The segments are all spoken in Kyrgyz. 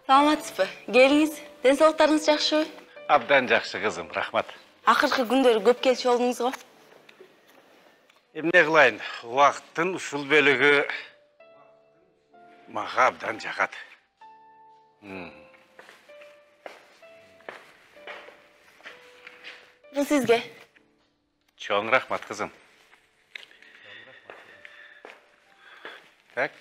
Саламатсызбы? Келиңиз. Ден соолуктарыңыз жакшыбы? Абдан жакшы кызым, рахмат. Акыркы күндөрү көп келчү болдуңуз го. Эмне кылайын? Убакыттын ушул бөлүгү мага абдан жагат. Бул сизге. Чоң рахмат кызым. Так.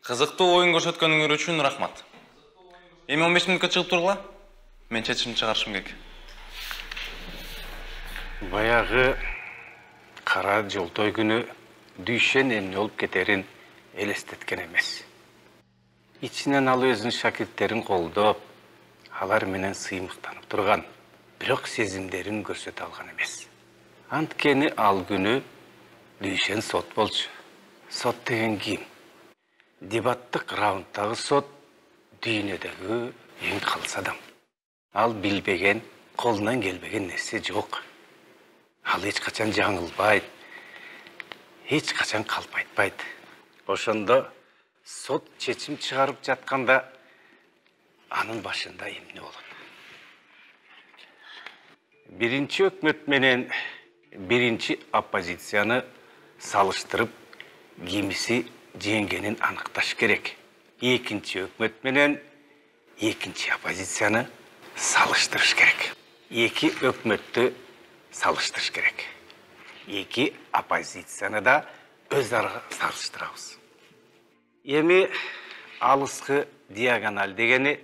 Кызыктуу оюн көрсөткөнүңөр үчүн рахмат. Эми 15 мүнөткө чыгып тургула. Мен чечим чыгарышым керек. Баягы кара жолтой күнү Дүйшен эмне болуп кетерин элестеткен эмес. Ичинен ал өзүнүн шакирттерин колдоп, алар менен сыймыктанып турган, бирок сезимдерин көрсөтө алган эмес. Анткени ал күнү Дүйшен сот болчу. Сот деген ким? Дебаттык раундтагы сот дүйнөдөгү эң калыс адам. Ал билбеген, колунан келбеген нерсе жок. Ал эч качан жаңылбайт, эч качан калп айтпайт. Ошондо сот чечим чыгарып жатканда анын башында эмне болот? Биринчи өкмөт менен биринчи оппозицияны салыштырып, кимиси жеңгенин аныкташ керек. Экинчи өкмөт менен экинчи оппозицияны салыштырыш керек. Эки өкмөттү салыштырыш керек. Эки оппозицияны да өз ара салыштырабыз. Эми алыскы диагональ дегени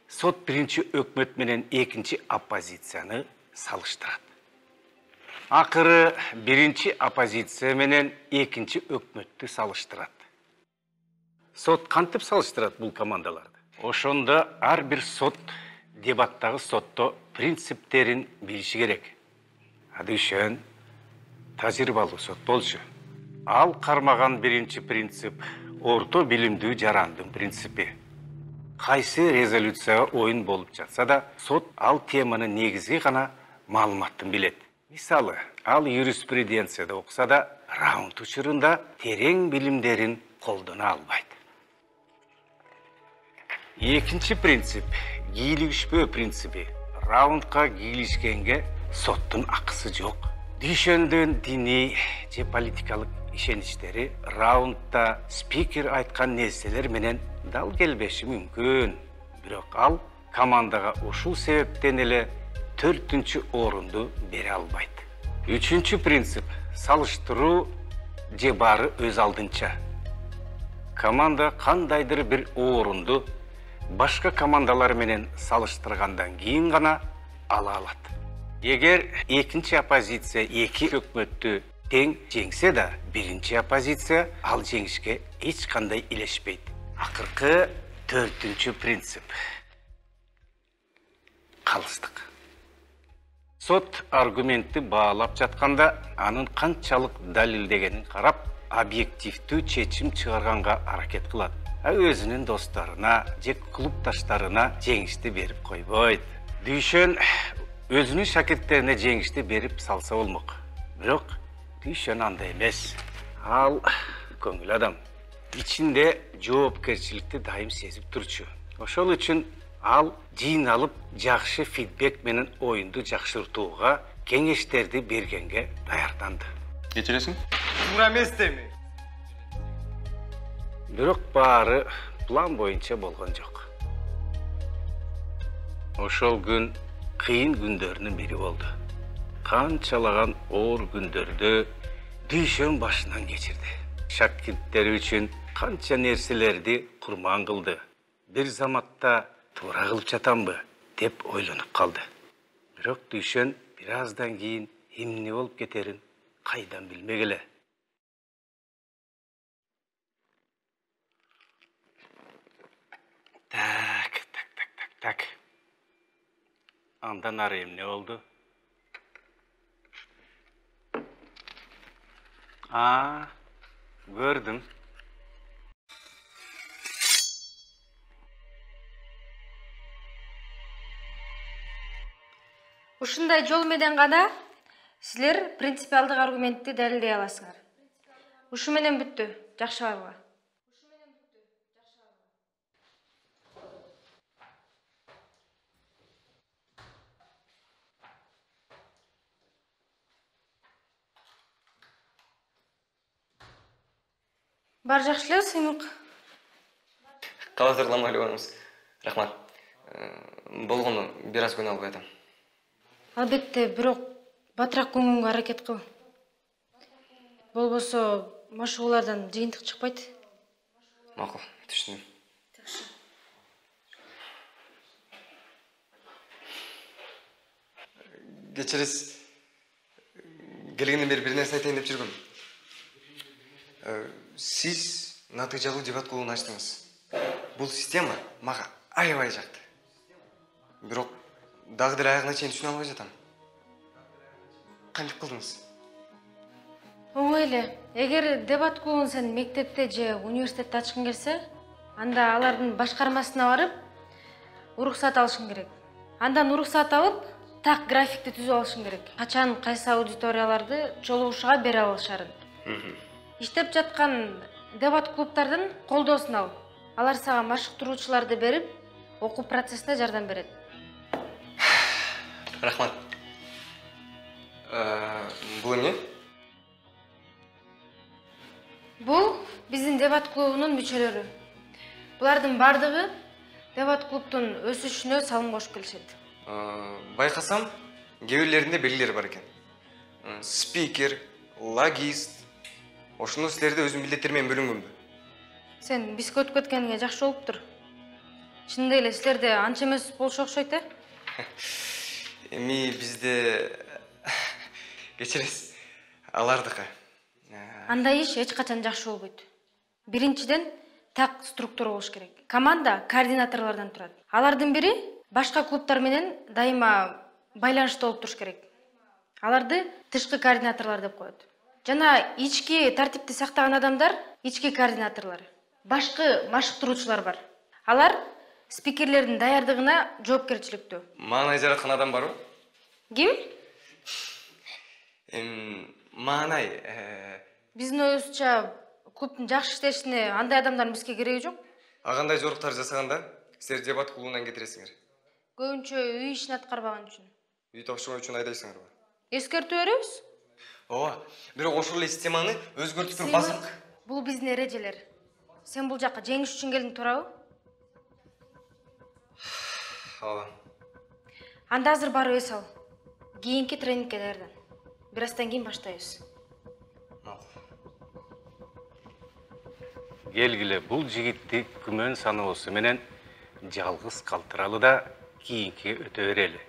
сот биринчи өкмөт менен экинчи оппозицияны салыштырат. Акыры биринчи оппозиция менен экинчи өкмөттү салыштырат. Сот кантип салыштырат бул командаларды? Ошондо ар бир сот дебаттагы сотто принциптерин билиши керек. Дүйшен тажрыйбалуу сот болчу. Ал кармаган биринчи принцип орто билимдүү жарандын принципи. Кайсы резолюцияга оюн болуп жатса да, сот ал теманын негизги гана маалыматын билет. Мисалы, ал юриспруденцияда окуса да, раунд учурунда терең билимдерин колдоно албайт. Экинчи принцип — кийлигишпөө принципи. Раундка кийлишкенге соттун акысы жок. Дүйшөндүн диний же политикалык ишеничтери раундда спикер айткан нерселер менен дал келбеши мүмкүн. Бирок ал командага ушул себептен эле 4-чү орунду бере албайт. 3-чү принцип — салыштыруу же баары өз алдынча. Команда кандайдыр бир орунду башка командалар менен салыштыргандан кийин гана ала алат. Эгер экинчи оппозиция эки өкмөттү тең жеңсе да, биринчи оппозиция ал жеңишке эч кандай илешпейт. Акыркы 4-чү принцип — калыстык. Сот аргументти баалап жатканда, анын канчалык далилдегенин карап, объективдүү чечим чыгарганга аракет кылат. Өзүнүн досторуна же клубдаштарына жеңишти берип койбойт. Дүйшөн өзүнүн шакирттерине жеңишти берип салса болмок. Бирок Дүйшөн андай эмес. Ал көңүл адам. Ичинде жоопкерчиликти дайым сезип турчу. Ошол үчүн ал жыйналып, жакшы фидбек менен оюнду жакшыртууга кеңештерди бергенге даярданды. Кечиресиң? Туура эмес деми. Бирок баары план боюнча болгон жок. Ошол күн кыйын күндөрүнүн бири болду. Канчалаган оор күндөрдү Дүйшөн башынан кечирди. Шакирттери үчүн канча нерселерди курман кылды. Бир заматта туура кылып жатамбы деп ойлонуп калды. Бирок Дүйшөн бир аздан кийин эмне болуп кетерин кайдан билмек эле. Так. Андан ары эмне болду? Көрдүм. Ушундай жол менен гана силер принципиалдык аргументти далилдей аласыңар. Ушу менен бүттү. Жакшы барбы? Бар жакшы эле, Сыймык. Калай тургуламай эле Рахмат. Болгону бир аз күнөө албай атам. Албетте, бирок батыраак көңүлгө аракет кыл. Болбосо машыгуулардан жыйынтык чыкпайт. Макул, түшүндүм. Кечириз, келгенден бери бир нерсе айтайын деп жүргөм. Сиз натыйжалуу дебат клубун ачтыңыз. Бул система мага аябай жакты. Бирок дагы деле аягына чейин түшүнө албай жатам. Кантип кылдыңыз? Оңой эле. Эгер дебат клубун сен мектепте же университетте ачкың келсе, анда алардын башкармасына барып, уруксат алышың керек. Андан уруксат алып, так графикти түзүп алышың керек. Качан кайсы аудиторияларды жолугушууга бере алышарын. Иштеп жаткан дебат клубтардын колдоосун ал. Алар сага машыктыруучуларды берип, окуу процессине жардам берет. Рахмат. Бул эмне? Бул биздин дебат клубунун мүчөлөрү. Булардын бардыгы дебат клубтун өсүшүнө салым кошуп келишет. Байкасам, кээ бирлеринде белгилер бар экен. Спикер, логист. Ошондо силерде өзүнүн милдеттери менен бөлүнгөнбү? Сен бизге өтүп кеткениңе жакшы болуптур. Чындап эле силерде анча эмес болушу окшойт, э? Эми бизде кечириз, алардыкы. Андай иш эч качан жакшы болбойт. Биринчиден, так структура болуш керек. Команда координаторлордон турат. Алардын бири башка клубтар менен дайыма байланышта болуп туруш керек. Аларды тышкы координаторлор деп коет. Жана ички тартипти сактаган адамдар ички координаторлор. Башкы машыктыруучулар бар. Алар спикерлердин даярдыгына жоопкерчиликтүү. Маанай жараткан адам барбы? Ким? Маанай, Биздин оюбузча клубтун жакшы иштешине андай адамдардын бизге кереги жок. агандай жоруктар жасаганда силер дебат клубунан кетиресиңер. Көбүнчө үй ишин аткарбаган үчүн. Үй тапшыруу үчүн айдайсыңарбы? Эскертүү беребиз. Ооба, бирок ошол эле системаны өзгөртүп туруп басып. Бул биздин эрежелер. Сен бул жакка жеңиш үчүн келдиң, туурабы? Ооба. Анда азыр барып эс ал. Кийинки тренингке даярдан. Бир аздан кийин баштайбыз. Келгиле, бул жигитти күмөн саноосу менен жалгыз калтыралы да кийинки өтө берели.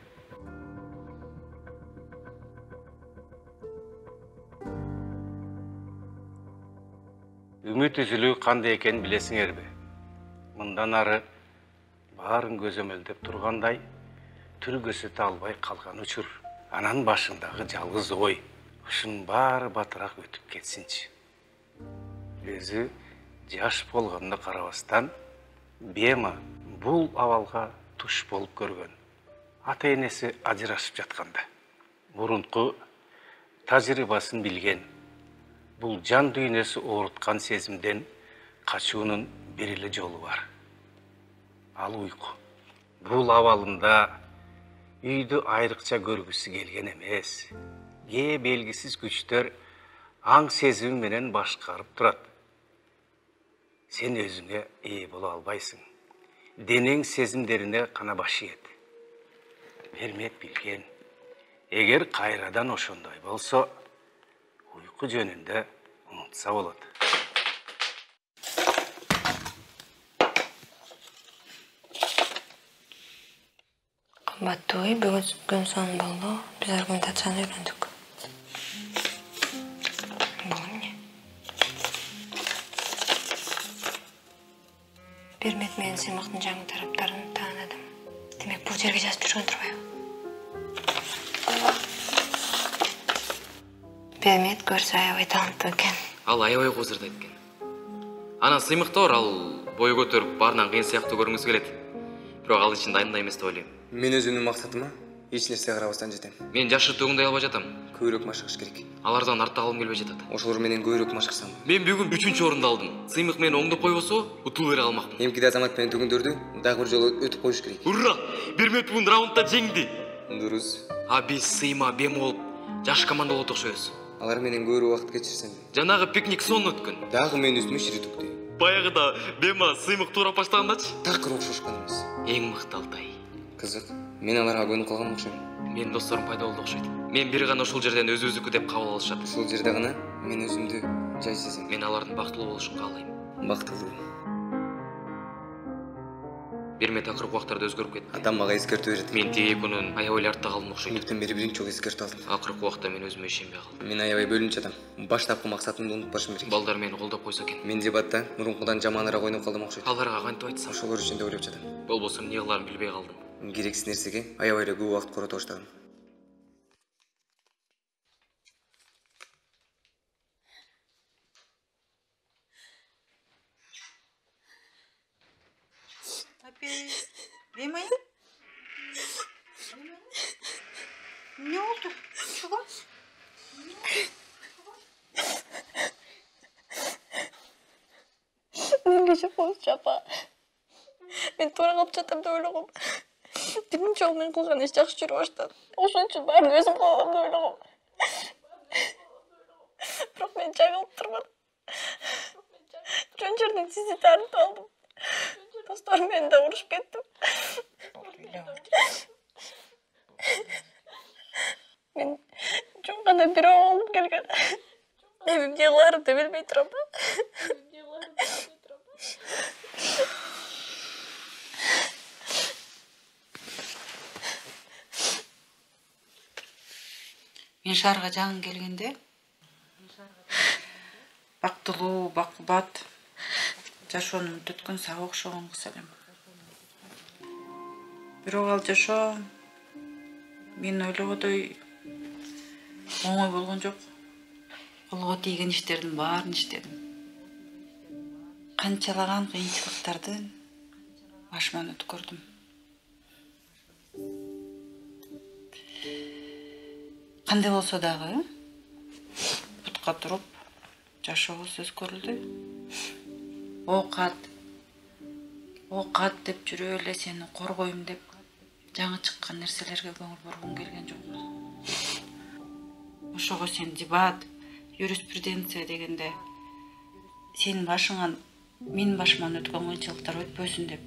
Үмүт үзүлүү кандай экенин билесиңерби? Мындан ары баарын көзөмөлдөп тургандай тил көзөтө албай калган учур. Анан башындагы жалгыз ой, ушунун баары батыраак өтүп кетсинчи. Өзү жаш болгонуна карабастан, Бема бул абалга туш болуп көргөн. Ата энеси ажырашып жатканда, мурунку тажрыйбасын билген. Бул жан дүйнөсү ооруткан сезимден качуунун бир эле жолу бар. Ал уйку. Бул абалында үйдү айрыкча көргүсү келген эмес. Кээ белгисиз күчтөр аң сезими менен башкарып турат. Сен өзүңө ээ боло албайсың. Денең сезимдерине кана баш ийет. Бермек билген. Эгер кайрадан ошондой болсо, уйку жөнүндө унутса болот. Кымбаттуу үй, бүгүн сонун болду. Биз аргументацияны үйрөндүк. Бул эмне? Бермет менен Сыймыктын жаңы тараптарын таанадым. Демек, бул жерге жазып жүргөн турбайбы? Бермет көрсө аябай таланттуу экен. Ал аябай козырдайт экен. Анан Сыймыкта бар, ал бой көтөрүп баарынан кыйын сыяктуу көрүнгүсү келет. Бирок ал ичинде айндай эмес деп ойлойм. Мен өзүмдүн максатыма эч нерсе карабастан жетем. Мен жашыртууңдай албай жатам. Көбүрөөк машыгыш керек. Алардан артта калгым келбей жатат. Ошолор менен көбүрөөк машыксам. Мен бүгүн 3-чү орунду алдым. Сыймык мени оңдоп койбосо, утуу бере алмакмын. Эмкиде Азамат менен түгүндөрдү дагы бир жолу өтүп коюш керек. Ура! Берметбун раундда жеңди. Дурус. А биз Сыйма, Бем болуп жаш команда болуп окшойбуз. Алар менен көбүрөөк убакыт кечирсем. Жанагы пикник сонун өткөн. Дагы менин үстүмө шири төктү. Баягыда Бема Сыймык туурап баштагандачы. Такыр окшошканбыз. Эң мыкты Алтай. Кызык. Мен аларга көнүп калган окшойм. Менин досторум пайда болду окшойт. Мен бир гана ушул жерден өзүбүздүкү деп кабыл алышат. Ушул жерде гана мен өзүмдү жай сезем. Мен алардын бактылуу болушун каалайм. Бактылуу. Берме такыр убактарда өзгөрүп кетти. Атам мага эскертүү берди. Мен тиги экөөнүн аябай артта калдым окшойт. Түнүктөн бери биринчи жолу эскертүү алдым. Акыркы убакта мен өзүмө ишенбей калдым. Мен аябай бөлүнчү адам. Баштапкы максатымды унутпашым керек. Балдар мени колдоп койсо экен. Мен дебатта мурункудан жаманыраак ойноп калдым окшойт. Аларга кантип айтсам? Ошолор үчүн деп ойлоп жатам. Болбосо эмне кыларын билбей калдым. Керексиз нерсеге аябай эле көп убакыт корото баштадым. Бема? Ne oldu? Çuval? Мен кечип коюңузчу апа. Мен туура калып жатам деп ойлогом. Биринчи жолу мен кылган иш жакшы жүрө баштады. Ошон үчүн баарын өзүм кылам деп ойлогом. Бирок мен жагылып турмадым. Жөн жерден сизди таанытып алдым. Досторум менен да урушуп кеттим. Мен жөн гана бирөө болуп келген. Эми эмне кыларымды билбей турам. Мен шаарга жаңы келгенде бактылуу, бакубат, жашоонун өткөн сага окшогон кыз элем. Бирок ал жашоо мен ойлогодой оңой болгон жок. Колго тийген иштердин баарын иштедим. Канчалаган кыйынчылыктардын башыман өткөрдүм. Кандай болсо дагы бутка туруп жашообуз өзгөрүлдү. Оокат деп жүрө эле сени коргойм деп жаңы чыккан нерселерге көңүл бургум келген жок. Ошого сен дебат, юриспруденция дегенде сенин башыңан менин башыман өткөн кыйынчылыктар өтпөсүн деп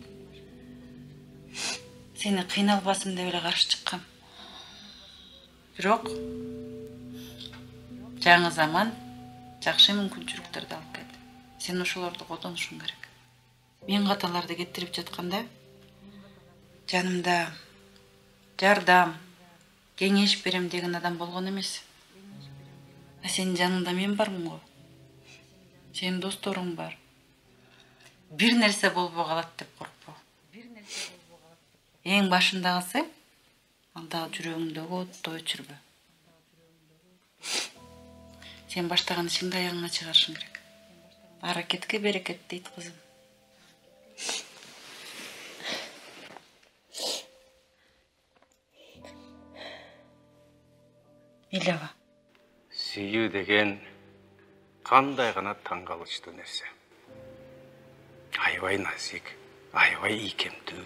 сени кыйналбасын деп эле каршы чыккам. Бирок жаңы заман жакшы мүмкүнчүлүктөрдү алып келди. Сен ошолорду колдонушуң керек. Мен каталарды кетирип жатканда жанымда жардам, кеңеш берем деген адам болгон эмес. А сенин жаныңда мен бармын го. Сенин досторуң бар. Бир нерсе болбой калат деп коркпо. Эң башындагысы ал дагы жүрөгүңдөгү отту өчүрбө. Сен баштаган ишиңди аягыңа чыгарышың керек. Аракетке берекет дейт кызым. Илева. Сүйүү деген кандай гана таң калычтуу нерсе. Аябай назик, аябай ийкемдүү.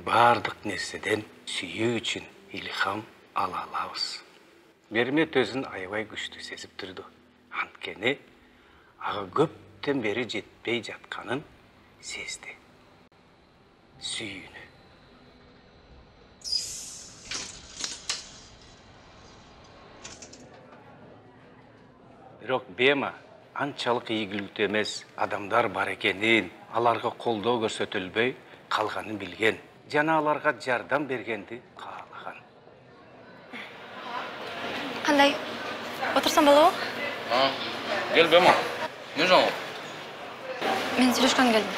Бардык нерседен сүйүү үчүн илхам ала алабыз. Мермет өзүн аябай күчтүү сезип турду. Анткени ага көптөн бери жетпей жатканын сезди. Сүйүүнү. Бирок Бема анчалык ийгиликтүү эмес адамдар бар экенин, аларга колдоо көрсөтүлбөй калганын билген. Жана аларга жардам бергенди каалаган. Кандай? Отурсам болобу? Кел Бема. Не жаңы? Мен сүйлөшкөнгө келдим.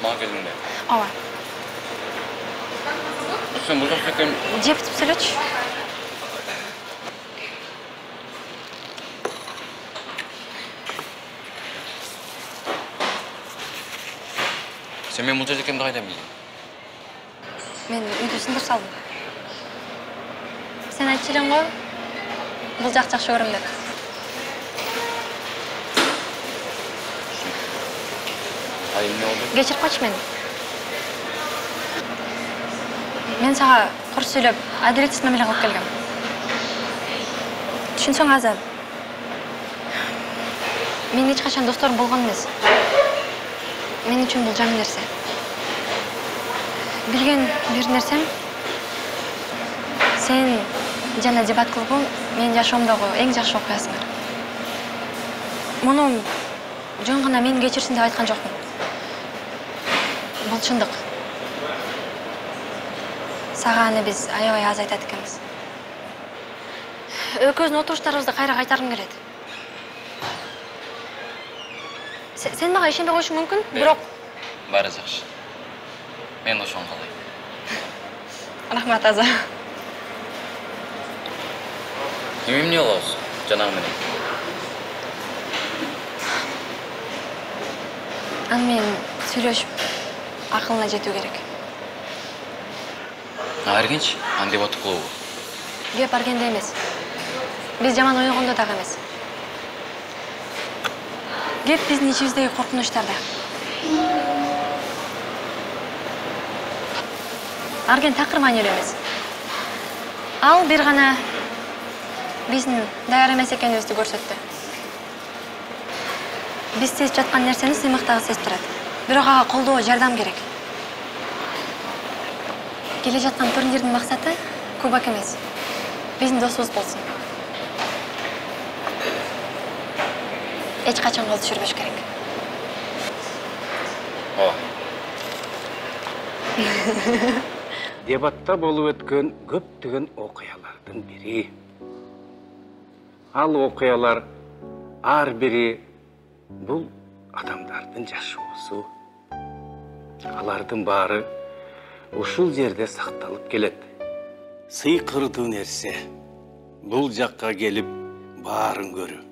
Мага келдиң да. Ооба. Сен бузак экен. Жептип сүйлөчү. Сен мен бул жерде экенди кайдан билдиң? мен үйдү сындырып салдым. Сен айтчу элең го, бул жак жакшы көрөм деп. Ай, эмне болду? Кечирип койчу мени. Мен сага кур сүйлөп, адилетсиз мамиле кылып келгем. Түшүнсөң азыр. Мен эч качан досторум болгон эмес. Мен үчүн бул жаңы нерсе. Билген бир нерсем, сен жана дебат кылгуу менин жашоомдогу эң жакшы окуясыңар. Муну жөн гана мени кечирсин деп айткан жокмун. Бул чындык. Сага аны биз аябай аз айтат экенбиз. Экөөбүздүн отуруштарыбызды кайра кайтаргым келет. Сен мага ишенбей коюшуң мүмкүн, бирок Баары жакшы. Мен ошону каалайм. Рахмат аза. Эмне кылабыз? Жанагы менен. Аны менен сүйлөшүп акылына жетүү керек. Аргенч, аны деп атып кылабы? Кеп аргенде эмес. Биз жаман ойгондо дагы эмес. Кеп биздин ичибиздеги коркунучтарда. Арген такырман эле эмес. Ал бир гана биздин даяр эмес экенибизди көрсөттү. Биз сезип жаткан нерсени сыймыктагы сезип турат. Бирок ага колдоо, жардам керек. Келе жаткан турнирдин максаты кубок эмес. Биздин досубуз болсун. Эч качан кол түшүрбөш керек. Ооба. Дебатта болуп өткөн көптөгөн окуялардын бири. Ал окуялар ар бири бул адамдардын жашоосу. Алардын баары ушул жерде сакталып келет. Сыйкырдуу нерсе бул жакка келип баарын көрүү.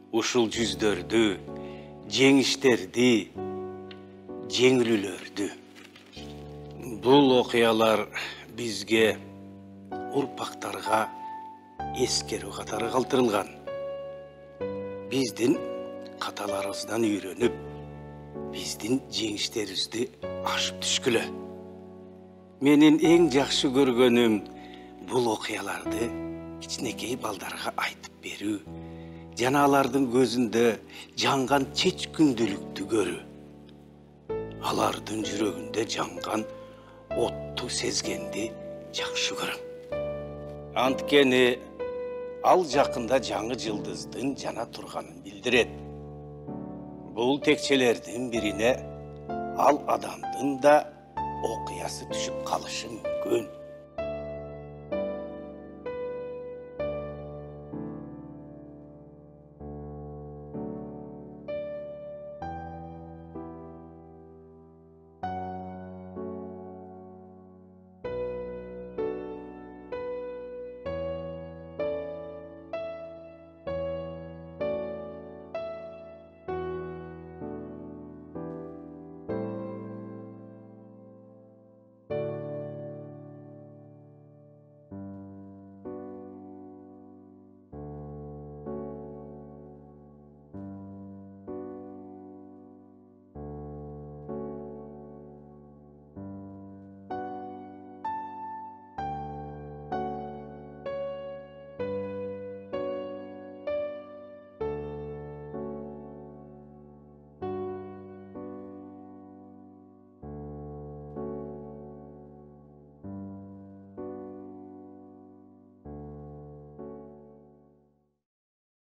Ушул жүздөрдү, жеңиштерди, жеңилүүлөрдү. Бул окуялар бизге, урпактарга эскерүү катары калтырылган. Биздин каталарыбыздан үйрөнүп, биздин жеңиштерибизди ашып түшкүлө. Менин эң жакшы көргөнүм бул окуяларды кичинекей балдарга айтып берүү, жана алардын көзүндө жанган чечкүндүлүктү көрүү. Алардын жүрөгүндө жанган отту сезгенди жакшы көрөм. Анткени ал жакында жаңы жылдыздын жана турганын билдирет. Бул текчелердин бирине ал адамдын да окуясы түшүп калышы мүмкүн.